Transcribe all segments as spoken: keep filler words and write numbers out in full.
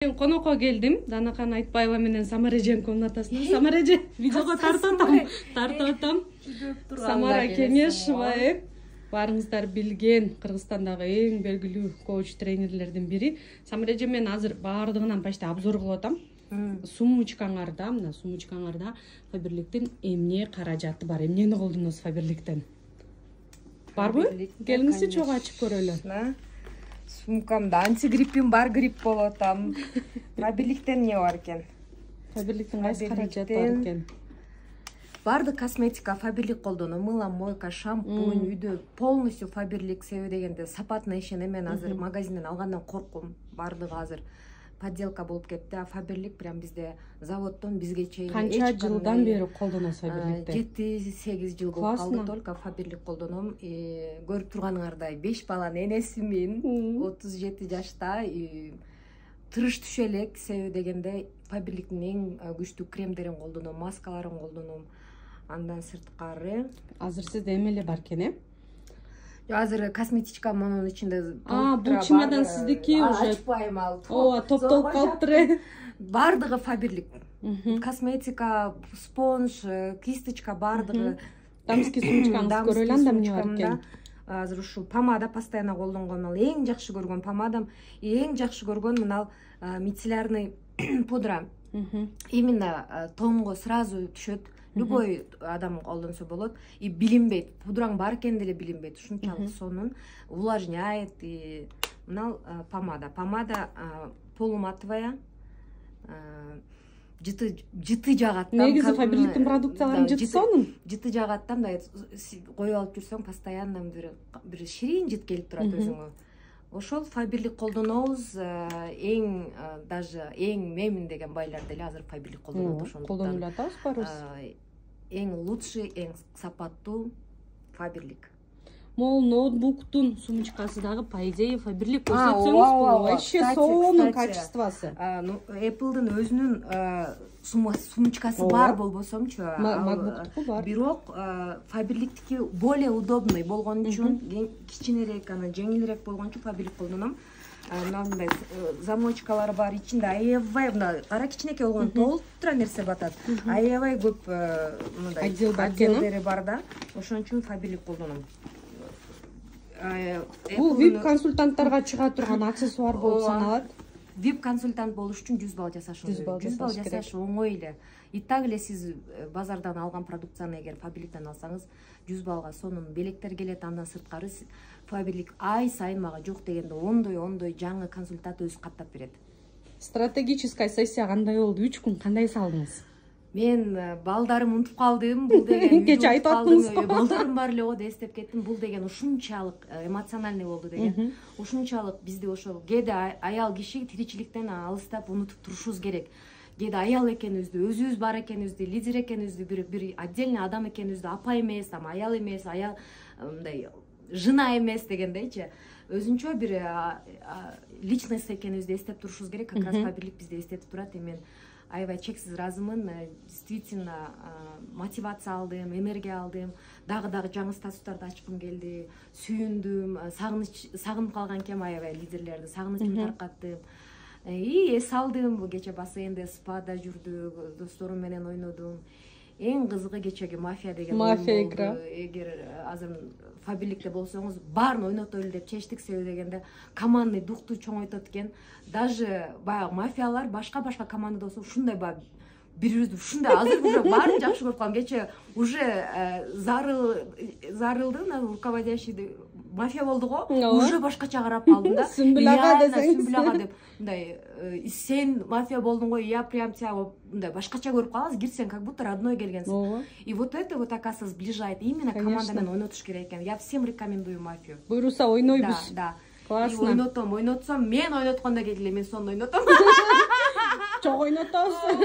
Мен конокко келдим. Данакан Айтбаева менен Самара эженин комнатасына. Самара эже, видеого тартып атам. Тартып атам. Самара Кеңешова. Барыңыздар билген Кыргызстандагы эң белгилүү коуч тренерлердин бири. Самара эже мен азыр баардыгынан почти обзор кылып атам. Сумочкаңарда, мына сумочкаңарда Фаберликтин эмне каражаты бар? Эмнени колдоносуз Фаберликтен? Барбы? Келиңизчи чогуу ачып көрөлү. Сумкамда антигриппим бар, грипп болуп атам. Фаберликтен эмне бар экен? Фаберликтин кайсы каражаты бар экен? Бардык косметика Фаберлик колдоном. Мыла, мойка, шампунь, үйдө полностью Фаберлик себеби дегенде сапатына ишенем. Мен азыр магазинден алгандан коркум. Бардыгы азыр подделка болуп кетти. А Фаберлик прям бизде заводдон бизге чейин канча жылдан бери колдоносуз Фаберликти? жети сегиз жыл болуп калды. Только Фаберлик колдоном. Көрүп турганыңардай беш баланын энесимин. отуз жети жашта. Тырыш түшө элек себеби дегенде Фаберликтин эң күчтүү кремдерин колдоном, маскаларын колдоном. Андан сырткары азыр сизде эме эле бар экен, э? Азыр косметичка монун ичинде. А, бул чемодан сиздики уже. Ачпайм ал. Ооба, топтолуп калыптыр. Бардыгы Фаберлик. Косметика, спонж, кисточка бардыгы. Дамский сумочкаңызды көрөлү, анда эмне бар экен? Азыр ушул помада постоянно колдонгон, ал эң жакшы көргөн помадам, эң жакшы көргөн мына мицеллярный пудра. Именно тонго сразу түшөт. Любой адам колдонсо болот. И билинбейт. Пудраң бар экен деле билинбейт. Ушунчалык сонун увлажняет. И мына помада. Помада полуматовая. Жыты жыты жагат. Негизи Фаберликтин продукцияларын жыты сонун. Жыты жагат, мындай коюп алып жүрсөң, постоянно бир бир ширин жыт келип турат өзүңө. Ошол Фаберлик колдонобуз. Эң даже эң мемин деген байлар деле азыр Фаберлик колдонот. Ошондуктан колдонуп атабыз барыбыз. Эң лучший, эң сапаттуу Фаберлик. Мол ноутбуктун сумочкасы дагы по идее Фаберлик көрсөтсөңүз, вообще сонун качествосы. Apple'дын өзүнүн сумочкасы бар болбосомчу, MacBook'туку бар. Бирок Фаберликтики более удобный болгон үчүн, кичинерээк, ана жеңилирээк болгон үчүн Фаберлик колдоном. Мындай замочкалары бар, ичинде аябай мына кара кичинекей болгон толтура нерсе батат. Аябай көп мындай отделдери бар да. Ошон үчүн Фаберлик колдоном. Бул вип консультанттарга чыга турган аксессуар болуп саналат. Вип консультант болуш үчүн жүз балл жашашыңыз керек. жүз балл жашаш оңой эле. И так эле сиз базардан алган продукцияны эгер Фаберликтен алсаңыз, жүз баллга сонун белектер келет. Андан сырткары Фаберлик ай сайын мага жок дегенде ондой ондой жаңы консультант өзү каттап берет. Стратегическая сессия кандай болду? үч күн кандай салдыңыз? Мен балдарым унутуп калдым. Бул деген кече айтып аттыңыз. Балдарым бар эле го деп эстеп кеттим. Бул деген ушунчалык эмоциональный болду деген. Ушунчалык бизде ошол кээде аял киши тиричиликтен алыстап унутуп турушубуз керек. Кээде аял экенибизди, өзүбүз бар экенибизди, лидер экенибизди, бир бир отдельный адам экенибизди, апа эмес, там аял эмес, аял мындай жына эмес дегендейчи. Өзүнчө бир личность экенибизди эстеп турушубуз керек. Как раз Фаберлик бизди эстетип турат. Мен аябай чексиз ыраазымын. Действительно мотивация алдым, энергия алдым. Дагы-дагы жаңы статустарды ачкым келди. Сүйүндүм, сагыныч сагынып калган экенмин аябай лидерлерди. Сагынычымды таркаттым. И эс алдым. Кече бассейнде, спада жүрдүк, досторум менен ойнодум. Эң кызыгы кечеги мафия деген оюн болду. Эгер азыр Фаберликте болсоңуз, баарын ойнотойлу деп чечтик себеби дегенде командный духту чоңойтот экен. Даже баягы мафиялар башка-башка командада болсо ушундай баягы бири-бирибизди ушундай азыр уже баарын жакшы көрүп калдым. Кече уже зарыл зарылды, руководящий мафия болду го. Уже башкача карап калдым да. Сүмбүлага десеңиз. Сүмбүлага деп мындай сен мафия болдуң го, я прям тебя мындай башкача көрүп каласың, кирсең как будто родной келгенсиң. И вот это вот оказывается сближает. Именно команда менен ойнотуш керек экен. Я всем рекомендую мафию. Буйруса ойнойбуз. Да, да. Классно. Ойнотом, ойнотсом, мен ойноткондо келгиле, мен сонун ойнотом. Чок ойнотосуз.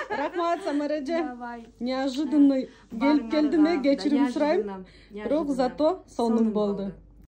Рахмат, Самара эже. Неожиданный келип келдим, кечирим сурайм. Бирок зато сонун болду.